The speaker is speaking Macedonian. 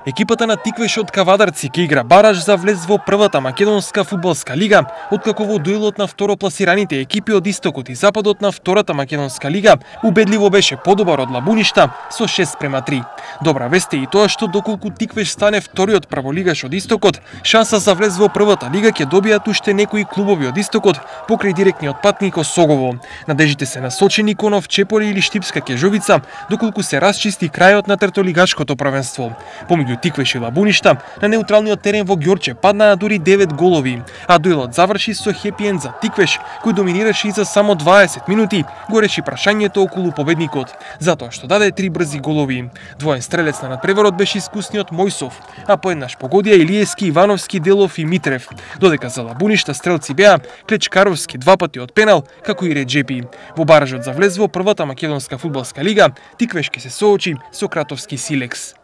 Екипата на Тиквеш од Кавадарци ќе игра бараж за влез во првата македонска фудбалска лига, откако во дуелот на второпласираните екипи од истокот и западот на втората македонска лига убедливо беше подобар од Лабуништа со 6:3. Добра вест е и тоа што доколку Тиквеш стане вториот прволигаш од истокот, шанса за влез во првата лига ќе добијат уште некои клубови од истокот покрај директниот патник кон Согово. Надежите се насочени кон Овчеполе или Штипска Кежовица, доколку се расчисти крајот на третолигашкото првенство. Помеѓу Тиквеш и Лабуништа на неутралниот терен во Ѓорче паднаа дури 9 голови, а дуелот заврши со хепи енд за Тиквеш, кој доминираше и за само 20 минути, го реши прашањето околу победникот, затоа што даде 3 брзи голови. Двоен стрелец на надпреварот беше искусниот Мојсов, а поеднаш погодија Илиевски, Ивановски, Делов и Митрев, додека за Лабуништа стрелци беа Клечкаровски 2 пати од пенал, како и Реджепи. Во баражот за влез во првата македонска фудбалска лига, Тиквеш ќе се соочи со Кратовски Силекс.